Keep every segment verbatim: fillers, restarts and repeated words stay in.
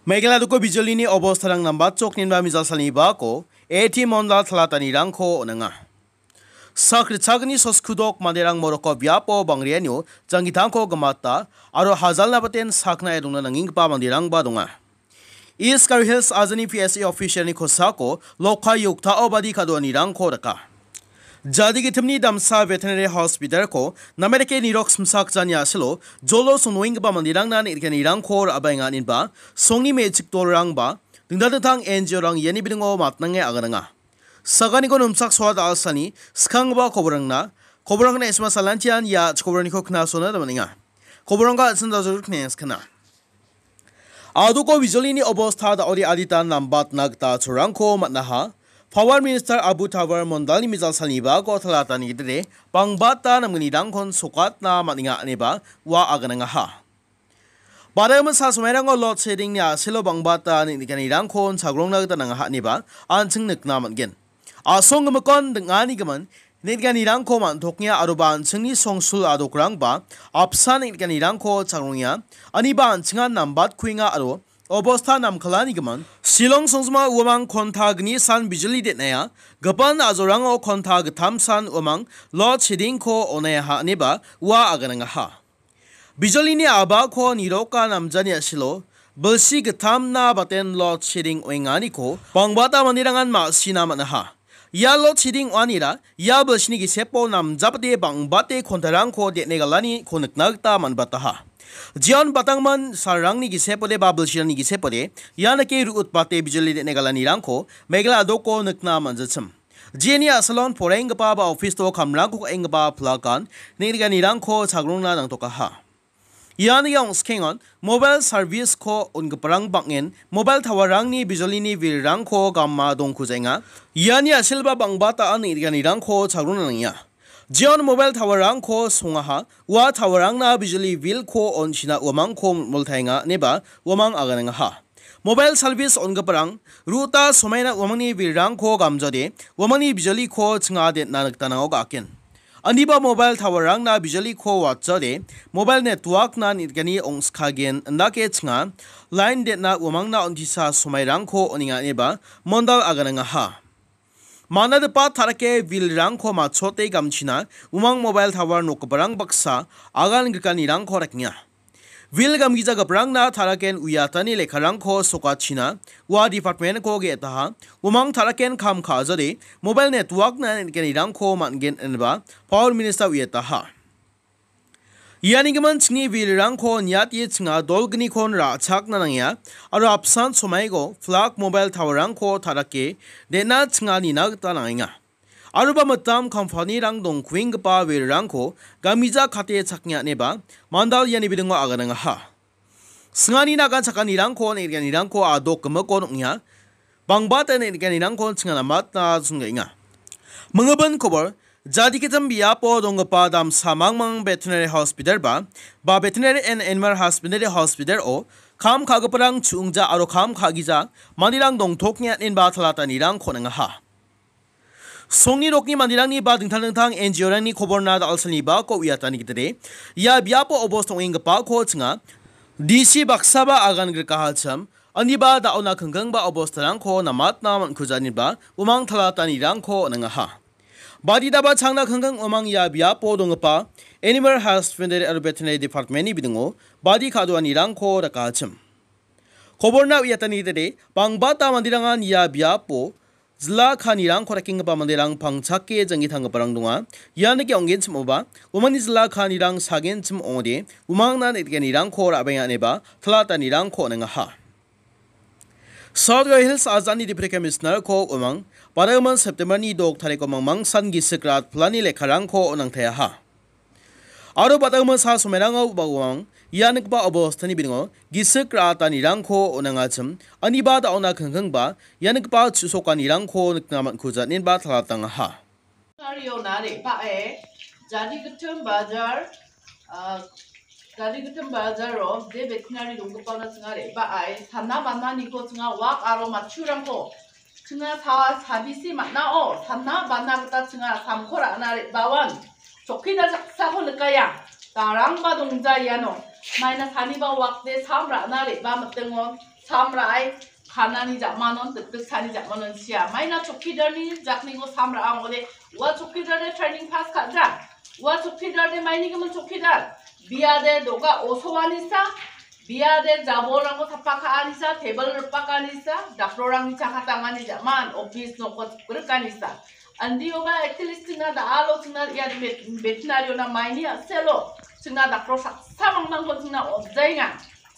Meghalaya doko bijolini obostarang nambatchok ninba mijal salni bako A T Mondal talatanirangko on·enga. Sak ritchagni soskudok manderang moroko biapo bangrianio janggitangko gimata aro hajalna baten saknae dongna nangenggipa manderangba donga. East Garo Hills ajani P S A officialni kosako lokka yoktao badi kadoanirangko rika. Jadi gitimni damsa veterinary hospitalko namerike nirok simsakjani asilo jolo songnoenggipa manderangna neng·rikanirangko ra·baenga inba songni me·chik dolrangba dingtang dingtang N G O-rang iani bidingo matnange agananga. Saganiko nomsak soa da·alsani skanggipa koborangna, koborangna S M S salantian ia chikoborangko knasona damanenga. Koborangko an·ching dajol knengskana. Adoko bijolini obosta da·ode adita nambatna gita cholrangko man·aha. Power Minister Abu Tabar Mondalni mijal salni bako talatani gitire bangbata namgnirangkon sokatna man·enga ineba ua aganangaha. Bada·gimin sa somairango load sheddingni a·selo bangbata neng·nikanirangkon chagrongna gita nangaha ineba an·ching nikna man·gen. Asong gimikon ding·anigimin neng·nikanirangko man·tokngia aroba an·chingni songsul adokrangba apsan neng·nikanirangko chagrongenga, aniba an·chingan nambatkuenga aro obosta namkalanigimin Shillong songjima uamang konta gni san bijoli den·aia, gipin a·jorango konta gittam san uamang load sheddingko on·aiaha ineba ua aganangaha. Bijolini a·bako niroka namjani a·silo bilsi gittamna baten load shedding oenganiko bangbata manderangan ma·sina man·aha. Ia load shedding oanira ia bilsini gisepo namjabate bangbate kontarangko den·e galaniko nikna gita man·bataha. Jeon batangman salrangni gisepode ba bilsirangni gisepode ia dake ru·utbate bijoli den·e galanirangko Meghalaya doko nikna man·jachim. Jeni a·salon poraienggipa ba office-o kamrangko ka·enggipa plakan neng·rikanirangko chagrongna nangtokaha. Iani angskengon mobile service-ko on·giparang bang·en mobile tower-rangni bijolini bilrangko gama dongkujaenga. Iani a·silba bangbata neng·rikanirangko chagrongna nangenga. Jeon mobile tower-rangko songaha, ua tower-rangna bijoli bill-ko on·china uamangko moltaenga ineba uamang aganangaha. Mobile service on·giparang ruta somaina uamangni bilrangko gamjode, uamangni bijoliko chinga den·na gita nango ga·aken. Aniba mobile tower-rangna bijoliko watjode, mobile network-na neng·gani ong·skagen indake chinga line den·na uamangna on·tisa somairangko on·enga ineba Mondal aganangaha. Manadipa tarake bilrangko matchote gamchina umang mobile tower nokgiparang baksa agan grikanirangko rekenga. Bil gamgijagiparangna taraken uiatani lekkarangko sokachina ua department-ko ge·etaha, umang taraken kam ka·jade mobile network-na neng·giparangko man·gen ineba Power Minister uiataha. Iani gimin chingni bilrangko niate chinga dolgnikon ra·chakna nangenga aro apsan somaigo flag mobile tower-rangko tarake den·na chinga nina gita nangenga. Aroba mitam kampanirang dongkuenggipa bilrangko gamija kate chaknge aneba Mandal iani bidingo aganangaha. Singani nagan chakanirangko neng·rikanirangko adok gimikon ong·enga. Bangbata neng·rikanirangko chinga namatna songgaenga. Mingibin kobor, jadikitim biapo donggipa damsa mangmang veterinary hospital ba, ba veterinary and animal husbandry hospital-o kam ka·giparang chu·ongja aro kam ka·gija manderang dongtoknge an·enba talatanirangko on·engaha. Songni nokni manderangni ba dingtang dingtang N G O-rangni koborna da·alsalni bako uiatani gitade, ia biapo obos tong·enggipako chinga D C baksaba agan grikahachim, aniba da·ona kingkingba obostarangko namatna man·kuja ineba umang talatanirangko on·engaha. Baditaba changna kingking umang ia biapo donggipa Animal Husbandry aro Veterinary Department-ni bidingo badi ka·doanirangko rakahachim. Koborna uiatani gitade, bangbata manderangan ia biapo jila kanirangko rakenggipa manderang pangchake janggi tanggiparang donga. Ian dake ong·genchim ong·oba, uamangni jila kanirang sagenchim ong·ode, umangna neng·rikanirangko ra·baenga ineba talatanirangko on·engaha. South Garo Hills ajani Deputy Commissioner-ko umang, badagimin September-ni dok tariko mangmangsan gisik rat plani lekkarangko on·angtaiaha. Aro badagimin sa somairangao ba uang ia nikgipa obostani bidingo gisik ra·atanirangko on·angachim, aniba da·ona kingkingba ia nikgipa chu·sokanirangko nikna man·kuja ineba talatangaha. Nario nare pa·e, jadi gitim bajar, ah, jadi gitim bajaro je veterinary donggipaona chinga re·baai, sana bananiko chinga wak aro matchurangko chinga sa-, sabisi man·ao, sana bana gita chinga samko ra·na re·baoan. Chokki da saksako nikaia. Darangba dongja iano. Maina saniba wakde sam ra·na re·ba mitingon. Sam ra·e kanani ja·manon, dikdiksani ja·manon sia. Maina chokkidarni jakniko sam ra·a ong·ode, ua chokkidarde training pass ka·ja. Ua chokkidarde mainigimin chokkidar. Biade do·ga osoanisa, biade jabolrangko tapa ka·anisa, tebil ripakanisa, daktorrangni chakatangani ja·man, office nokko chikrikanisa. Andioba at least chingna da·alo chingna ia vet-, veterinary-ona maini a·selo chingna daktor saksa mangmangko chingna on·jaenga.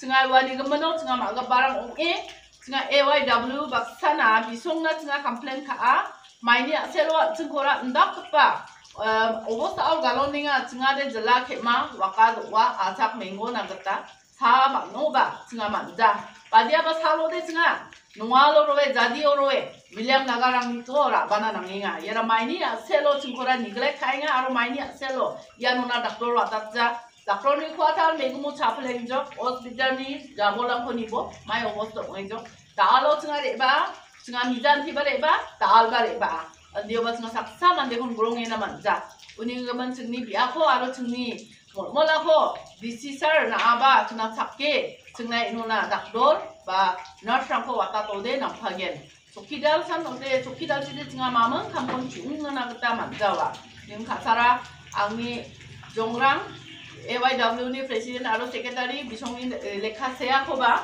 Chingna uani gimino chingna ma·giparang ong·e, chingna A Y W baksana bisongna chingna complain ka·a, maini a·selo an·chingkora indakgipa, em, obostao galonenga, chingade jila ke·ma, waka do·a, ajak menggona gita, sa man·oba, chingna man·ja. Badiaba salode chingna, nongalo roe, jadio roe, William Nagarangni to ra·bana nangenga. Iara maini a·selo chingkora neglect ka·enga aro maini a·selo ianona daktor watatja. Daktorni kuatar megumo chapelengjok, hospitalni jabolrangko nibo, mai obosta ong·engjok. Da·alo chingna re·baa, chingna mijantiba re·baa, da·alba re·baa. Andioba chingna saksa mandekon grongena man·ja. Uni gimin chingni biapo aro chingni molmolako D C sir na·aba chingna chake, chingna inona daktor ba nurse-rangko watatode nangpagen. Chokidal san ode, chokidal side chingna maming kamkon ching·na gita man·jawa. Ning ka·sara angni jongrang A Y W ni president aro secretary bisongni, eh, lekka seakoba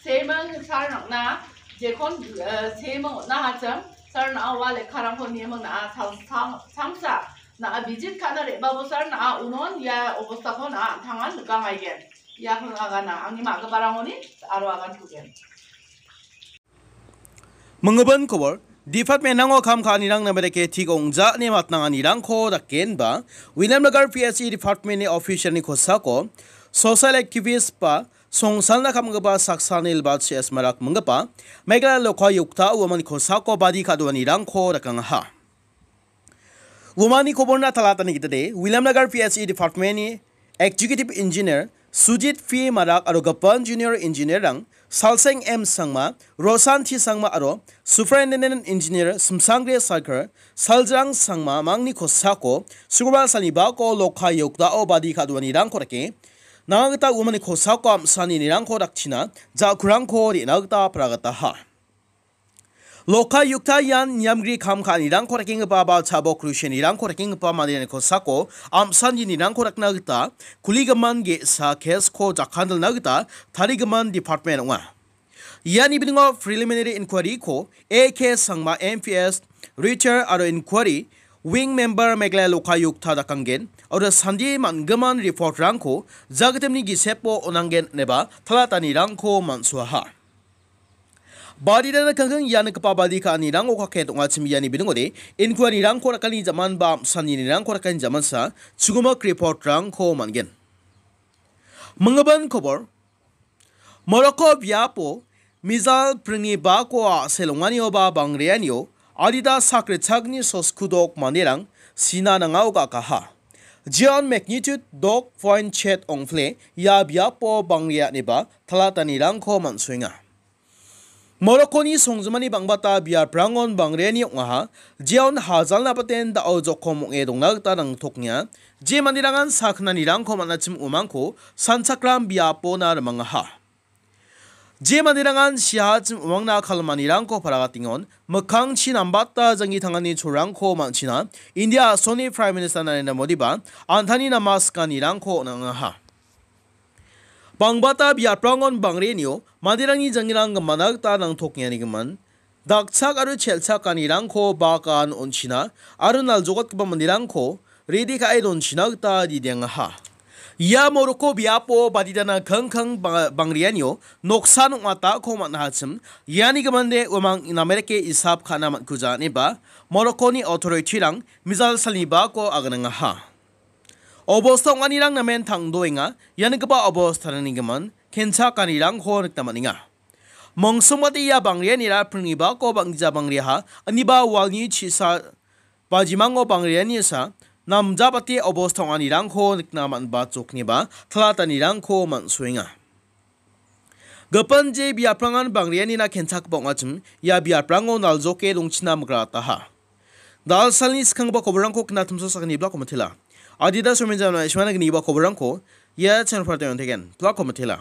seming sar nang·na jekon, eh, seming on·na hachim sar na·a ua lekkarangko nieming na·a sal-, sang-, sangsa na·a visit ka·na re·babo sar na·a unon ia obostako na·a an·tangan nikangaigen. Iakon agana angni ma·giparangoni aro agan kugen. Minggimin kobor, department-rango kam ka·anirang namereke tik ong·ja ine matnanganirangko dakenba, Williamnagar P S E department-ni official-ni kosako social activist ba songsalna kamgipa saksani Libat C S Marak minggipa Meghalaya Lokayukta uamangni kosako badi ka·doanirangko dakengaha. Uamangni koborna talatani gitade, Williamnagar P S E department-ni Executive Engineer Sujit P Marak aro gipin Junior Engineer-rang Salseng M Sangma, Roshan T Sangma aro Superintendent Engineer Simsangre Sarkar, Saljrang Sangma mangni kosako Sukrobar salni bako Lokayukta-o badi ka·doanirangko dake, nanga gita uamangni kosako am·saninirangko dakchina ja·kurangko re·na gita paragataha. Lokayukta ian niamgri kam ka·anirangko rakenggipa ba chabok rusianirangko rakenggipa manderangni kosako am·saninirangko rakna gita kuligimin ge·sa case-ko jakandilna gita tarigimin department ong·a. Iani biningo preliminary inquiry-ko A K Sangma M P S, Richard aro inquiry wing member Meghalaya Lokayukta dakanggen aro sandi man·gimin report-rangko jagitimni gisepo on·anggen ineba talatanirangko man·suaha. Badi dana kangkang ia nikgipa badi ka·anirango kaket ong·achim iani bidingode, inquiry-rangko rakani jaman ba am·saninirangko rakani jamansa, chugimik report-rangko man·gen. Minggimin kobor, Morocco biapo mizal pringni bako a·sel ong·anio ba bangreanio adita sak ritchakni soskudok manderang sina nangao ga·kaha. Jeon magnitude dok point chet ong·pile ia biapo bangreaneba talatanirangko man·soenga. Morocconi songjinmani bang·bata biaprangon bangreani ong·aha, jeon hajalna baten da·o jokom ong·e dongna gita nangtoknga, je manderangan saknanirangko man·achim umangko sanchakram biapona rimangaha. Je manderangan siahachim umangna kalmanirangko paragatengon, mikkangchi nambata janggi tangani cholrangko man·china, India a·soni Prime Minister Narendra Modiba an·tangni namaskanirangko on·angaha. Bangbata biaprangon bangrenio manderangni janggirang gimana gita nangtokengarigimin, dakchak aro chelchakanirangko bakan on·china aro naljokatgipa manderangko redi ka·e donchina gita didengaha. Ia Morocco biapo badidana kangkang ba-, bangrianio noksan ong·atako man·ahachim, iani gimande uamang namerike isap ka·na man·kuja ineba Morocconi authority-rang mizal salnibako aganangaha. Obosta ong·anirang namen tangdoenga, ianigipa obostarangni gimin kenchakanirangko nikna man·enga. Mongsongmate ia bangrianira pringnibako bang·gija bangriaha, aniba walni chisa bajimango bangrianisa namjabate obosta ong·anirangko nikna man·ba jokniba talatanirangko man·soenga. Gipin je biaprangan bangrianina kenchakgipa ong·achim, ia biaprango naljoke dongchina migrataha. Dalsalni skanggipa koborrangko knatimsa sakani blako mitela. Adida somenjana ismana gniba koborrangko ia channel-o on·tegen blako mitela.